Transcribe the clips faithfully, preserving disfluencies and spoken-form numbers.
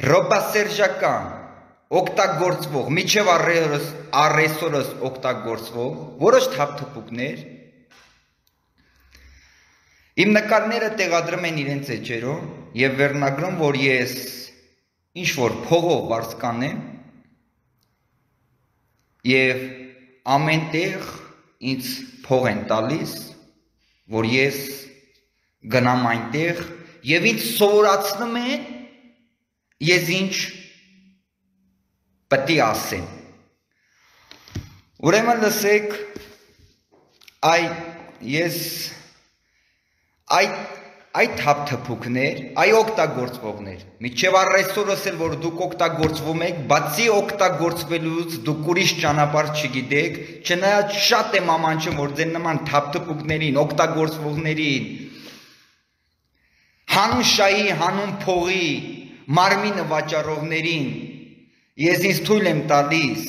ռոպասերժական օգտագործվող, միջև առեսօրս օգտագործվող որոշ թափթփուկներ իմ նկարները տեղադրում են իրենց էջերում եւ վերնագրում, որ ես ինչ որ փողով վարձկանեմ եւ ամեն տեղ ինձ փող են տալիս, որ ես գնամ այնտեղ եւ ինձ սովորացնում են ես ինչ պետք է ասեմ։ Ուրեմն լսեք, այ ես այդ այդ թափթփուկներ, այ օգտագործվողներ, միջև առեսօրս էլ որ դուք օգտագործվում եք, բացի օգտագործվելուց դուք ուրիշ ճանապարհ չգիտեք, չնայած շատ եմ ամանչում, որ ձեր նման թափթփուկներին, օգտագործվողներին հանուն շայի, հանուն փողի, մարմինը վաճառողներին ես ինձ թույլ եմ տալիս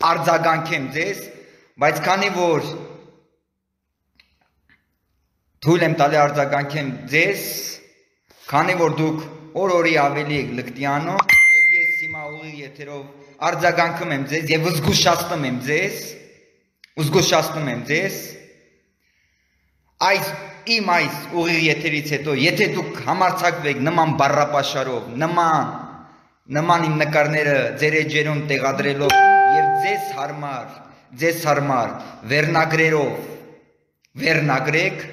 արձագանքեմ ձեզ, բայց քանի որ թույլ եմ տալի արձագանքեմ ձեզ, քանի որ դուք օր-օրի ավելի եք լկտիանում, եւ ես հիմա ուղիղ եթերով արձագանքում եմ ձեզ եւ զգուշացնում եմ ձեզ, զգուշացնում եմ ձեզ, այս իմ այս ուղիղ եթերից հետո, եթե դուք համարձակվեք նման բառապաշարով, նման նման իմ նկարները ձեր էջերում տեղադրելով եւ ձեզ հարմար, ձեզ հարմար վերնագրերով վերնագրեք,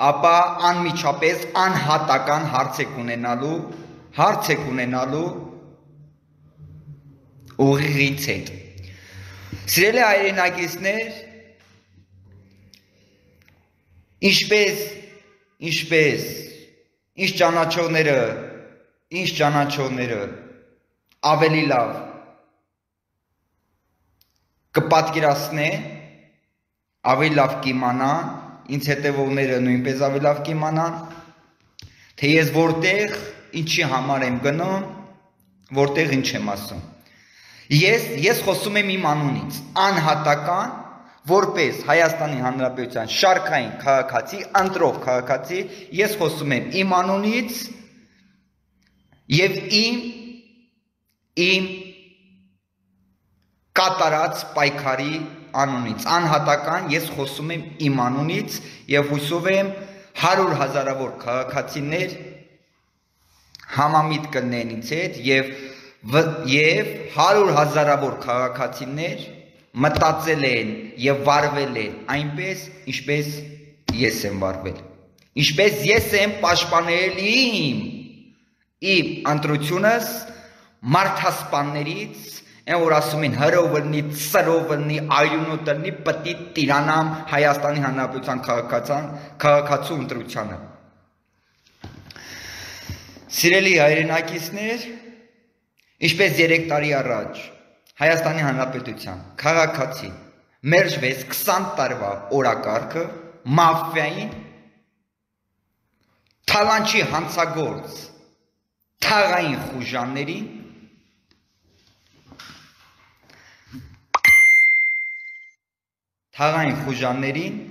ապա անմիջապես անհատական հարց եք ունենալու, հարց եք ունենալու ուղիղից հետ։ Սիրելի հայրենակիցներ, ինչպես, ինչպես, ինչ ճանաչողները, ինչ ճանաչողները ավելի լավ կպատկերացնեն, ավելի լավ կիմանան, ինձ հետևողները նույնպես ավելի լավ կիմանան, թե ես որտեղ ինչի համար եմ գնում, որտեղ ինչ եմ ասում։ Ես, ես խոսում եմ իմ անունից, անհատական, որպես Հայաստանի Հանրապետության շարքային քաղաքացի, ընտրող քաղաքացի, ես խոսում եմ իմ անունից եւ իմ իմ կատարած պայքարի անունից, անհատական ես խոսում եմ իմ անունից եւ հույսով եմ հարյուր հազարավոր քաղաքացիներ համամիտ կլինեն ինձ հետ եւ եւ հարյուր հազարավոր քաղաքացիներ մտածել են եւ վարվել են այնպես, ինչպես ես եմ վարվել, ինչպես ես եմ պաշտպանել իմ իմ ընտրությունս մարդասպաններից, այն որ ասում են հրով լինի, ծրով լինի, այունոտ լինի, պտի տիրանամ Հայաստանի Հանրապետության քաղաքացու ընտրությանը։ Սիրելի հայրենակիցներ, ինչպես երեք տարի առաջ Հայաստանի Հանրապետության քաղաքացի մերժվեց քսան տարվա օրակարգը մաֆիային թալանչի հանցագործ թաղային խուժաններին թաղային խուժաններին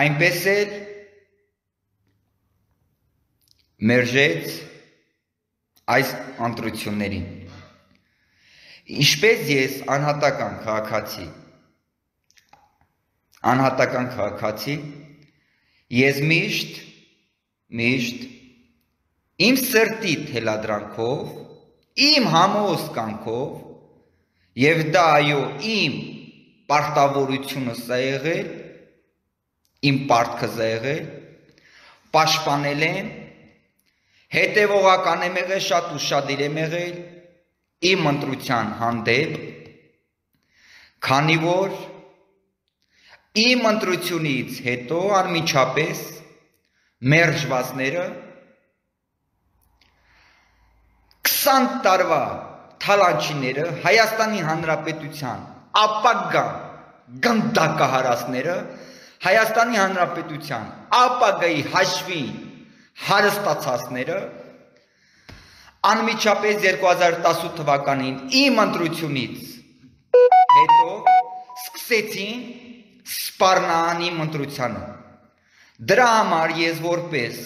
այնպես էլ մերժեց այս ընտրություններին։ Ինչպես ես անհատական քաղաքացի, անհատական քաղաքացի, ես միշտ, միշտ իմ սրտի թելադրանքով, իմ համոզ կանքով, եւ դա այո իմ պարտավորությունը սա եղել, իմ պարտքը սա եղել, պաշտպանել եմ, հետևողական եմ եղել, շատ ուշադիր եմ եղել իմ ընտրության հանդեպ, քանի որ իմ ընտրությունից հետո անմիջապես մերժվածները քսան տարվա թալանչիները Հայաստանի Հանրապետության ապագա գնդակահարածները Հայաստանի Հանրապետության ապագայի հաշվին հարստացածները անմիջապես երկու հազար տասութ թվականին իմ ընտրությունից հետո սկսեցին սպառնան իմ ընտրությանը։ Դրա համար ես որպես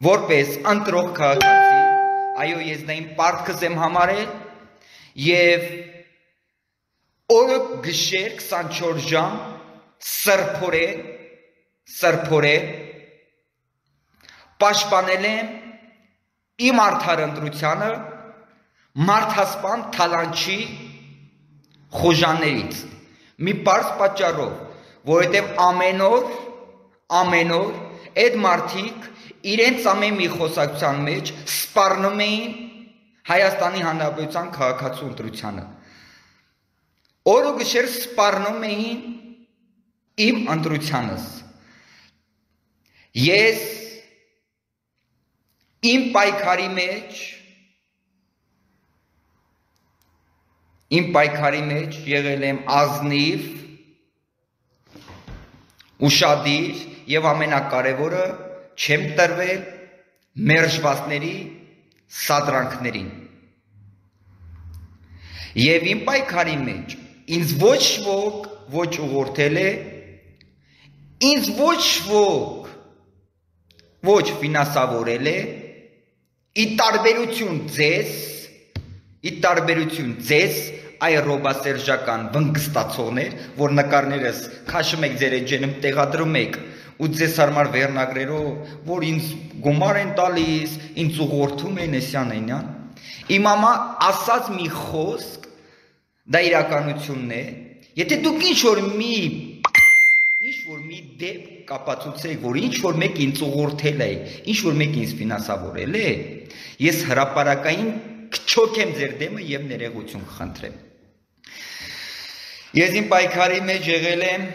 որպես ընտրող քաղաքացի, այո, ես դա իմ պարտքս եմ համարել եւ օրը գիշեր քսանչորս ժամ սրբորեն սրբորեն պաշտպանել եմ իմ արդար ընտրությանը մարդասպան թալանչի խոժաներից մի պարզ պատճառով, որովհետև ամեն օր ամեն օր այդ մարդիկ իրենց ամեն մի խոսակցության մեջ սպառնում էին Հայաստանի Հանրապետության քաղաքացու ընտրությանը։ Օրը գիշեր սպառնում էին իմ ընտրությանս։ Ես իմ պայքարի մեջ իմ պայքարի մեջ եղել եմ ազնիվ, ուշադիր եւ ամենակարևորը չեմ տրվել մերժվածների սադրանքներին։ Եվ իմ պայքարի մեջ ինձ ոչ ոք ոչ ուղղորդել է, ինձ ոչ ոք ոչ ֆինանսավորել է, ի տարբերություն ձեզ, ի տարբերություն ձեզ, այ ռոբասերժական վնգստացողներ, որ նկարներս քաշում եք ձեր էջերում տեղադրում եք ու ձեզ համար վերնագրերով, որ ինձ գումար են տալիս, ինձ ուղղորդում են էսյան այնյան։ Իմ մամա ասած մի խոսք, դա իրականությունն է, եթե դուք ինչ-որ մի ինչ-որ մի դեպք կապացուցեք, որ ինչ-որ մեկ ինձ ուղղորդել է, ինչ-որ մեկ ինձ ֆինանսավորել է, ես հրապարակային կչոքեմ ձեր դեմը եւ ներողություն կխնդրեմ։ Ես իմ պայքարի մեջ եղել եմ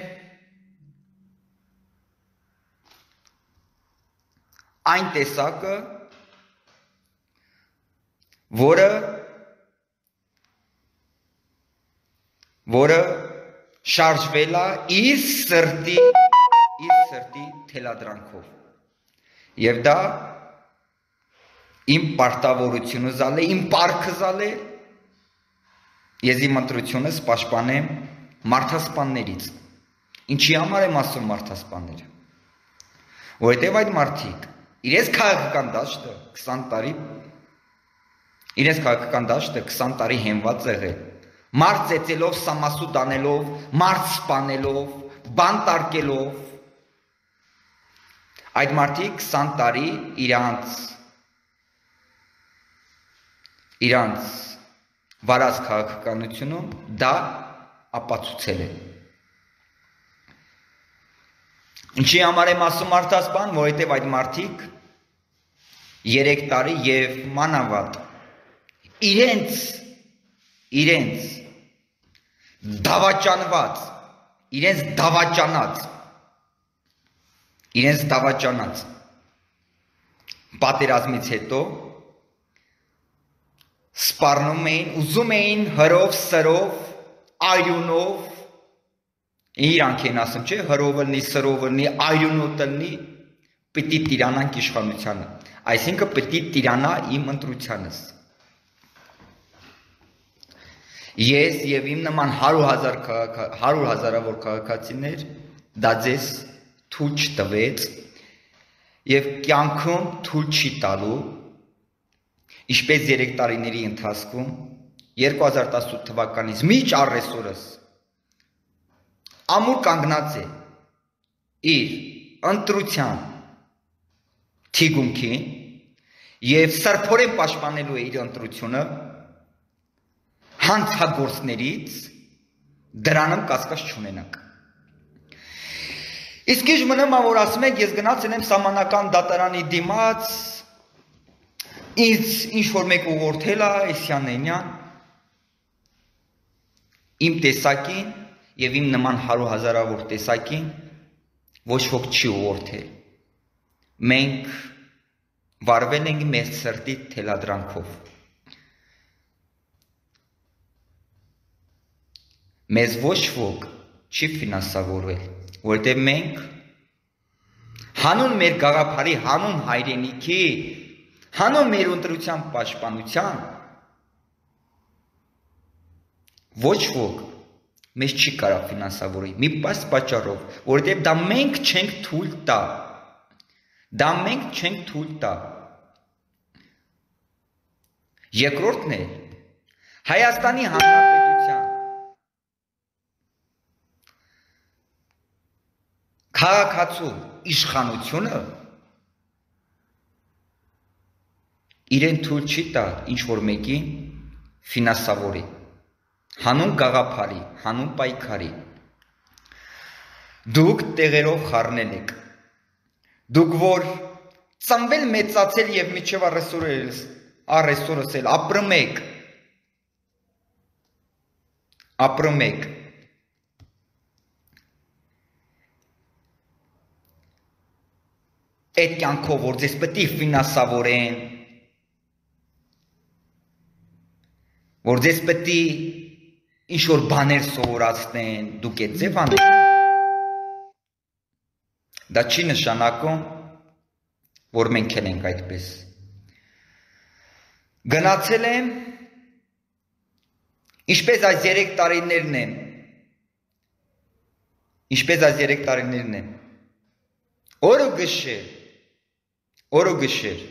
այն տեսակը, որը որը շարժվել է իր սրտի իր սրտի թելադրանքով։ Եվ դա իմ պարտավորությունը զալ է, իմ պարտքը զալ է, ես իմ ընտրությունս պաշտպանեմ մարդասպաններից։ Ինչի համար եմ ասում մարդասպանները։ Որովհետև այդ մարդիկ իրենց քաղաքական դաշտը քսան տարի իրենց քաղաքական դաշտը քսան տարի հենված եղել, մարդ ծեծելով, սամասուտ անելով, մարդ սպանելով, բան տարկելով, այդ մարդիկ քսան տարի իրանց իրանց վարած քաղաքականությունում դա ապացուցել է։ Ինչի համար եմ ասում մարդասպան, որովհետև այդ մարդիկ երեք տարի եւ մանավանդ իրենց իրենց դավաճանված, իրենց դավաճանած, իրենց դավաճանած պատերազմից հետո սպառնում էին, ուզում էին հրով, սրով, այրունով, իրանք են ասում, չէ, հրով լնի, սրով լնի, այրունով լնի, պիտի տիրանանք իշխանությանը, այսինքն պիտի տիրանա իմ ընտրությանս։ Ես եւ իմ նման հարյուր հազար հարյուր հազարավոր քաղաքացիներ դա ձեզ թույլ չտվեց եւ կյանքում թույլ չի տալու, ինչպես երեք տարիների ընթացքում երկու հազար տասնութ թվականից միջ առեսօրս ամուր կանգնած է իր ընտրության թիգունքին եւ սրբորեն պաշտպանելու է իր ընտրությունը հանցագործներից դրանում կասկած չունենանք։ Իսկ ինչ մնում է, որ ասում եք, ես գնացել եմ սահմանական դատարանի դիմաց, ինձ ինչ-որ մեկ ուղղորդել է, էսյան էնյան, իմ տեսակին եւ իմ նման հարյուր հազարավոր տեսակին ոչ ոք չի ուղղորդել։ Մենք վարվել ենք մեր սրտի թելադրանքով։ Մեզ ոչ ոք չի ֆինանսավորվել, որտեղ մենք հանուն մեր գաղափարի, հանուն հայրենիքի, հանուն մեր ընտրության պաշտպանության ոչ ոք մեզ չի կարող ֆինանսավորել, մի պարզ պատճառով, որտեղ դա մենք չենք թույլ տա, Դա մենք չենք թույլ տա։ Երկրորդն է Հայաստանի Հանրապետության քաղաքացու իշխանությունը իրեն թույլ չի տա ինչ-որ մեկին ֆինանսավորի, հանուն գաղափարի, հանուն պայքարի։ Դուք տեղերով խառնել եք, դուք որ ծնվել մեծացել և մինչև առեսօրս էլ ապրում եք, ապրում եք, այդ կյանքով, որ ձեզ պետք է ֆինանսավորեն, որ ձեզ պետք է ինչ-որ բաներ սովորացնեն, դուք այդ ձև անեք, դա չի նշանակում, որ մենք էլ ենք այդպես։ Գնացել եմ, ինչպես այս երեք տարիներն են, ինչպես այս երեք տարիներն են, օրը գշեր, օրը գշեր,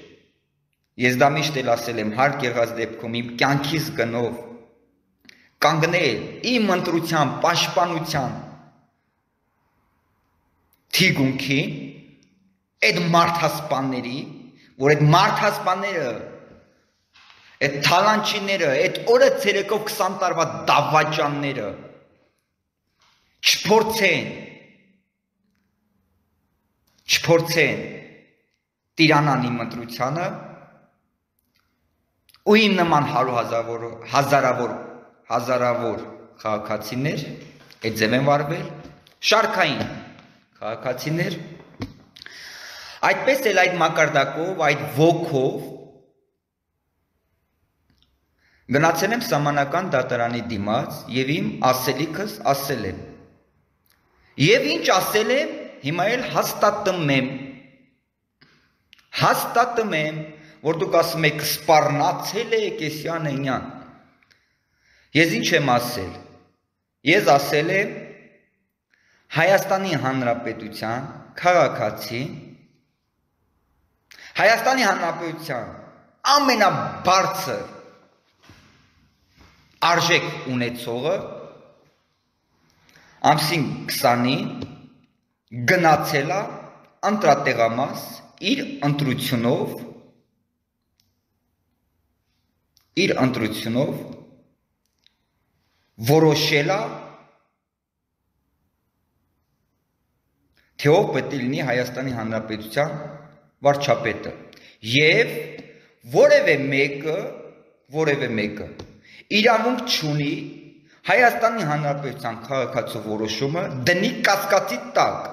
ես դա միշտ էլ ասել եմ, հարկ եղած դեպքում իմ կյանքիս գնով, կանգնել իմ ընտրության, պաշտպանության թիգունքի, այդ մարդասպանների, որ այդ մարդասպանները, այդ թալանչիները, այդ օրը ցերեկով քսան տարվա դավաճանները չփորձեն, չփորձեն տիրանան իմ ընտրությանը ու իմ նման հարյուրավոր հազարավոր հազարավոր քաղաքացիներ այդ ձև են վարվել, շարքային քաղաքացիներ, այդպես էլ այդ մակարդակով, այդ ոգով գնացել եմ սահմանական դատարանի դիմաց և իմ ասելիքս ասել եմ։ Եվ ինչ ասել եմ, հիմա էլ հաստատում եմ, հաստատում եմ, որ դուք ասում եք սպառնացել եք էսյան էնյան։ Ես ինչ եմ ասել, ես ասել եմ Հայաստանի Հանրապետության քաղաքացի, Հայաստանի Հանրապետության ամենաբարձր արժեք ունեցողը ամսին քսանին գնացել է ընտրատեղամաս իր ընտրությունով իր ընտրությունով որոշել է թե ով պետք է լինի Հայաստանի Հանրապետության վարչապետը և որևէ մեկը որևէ մեկը իրավունք չունի Հայաստանի Հանրապետության քաղաքացու որոշումը դնի կասկածի տակ։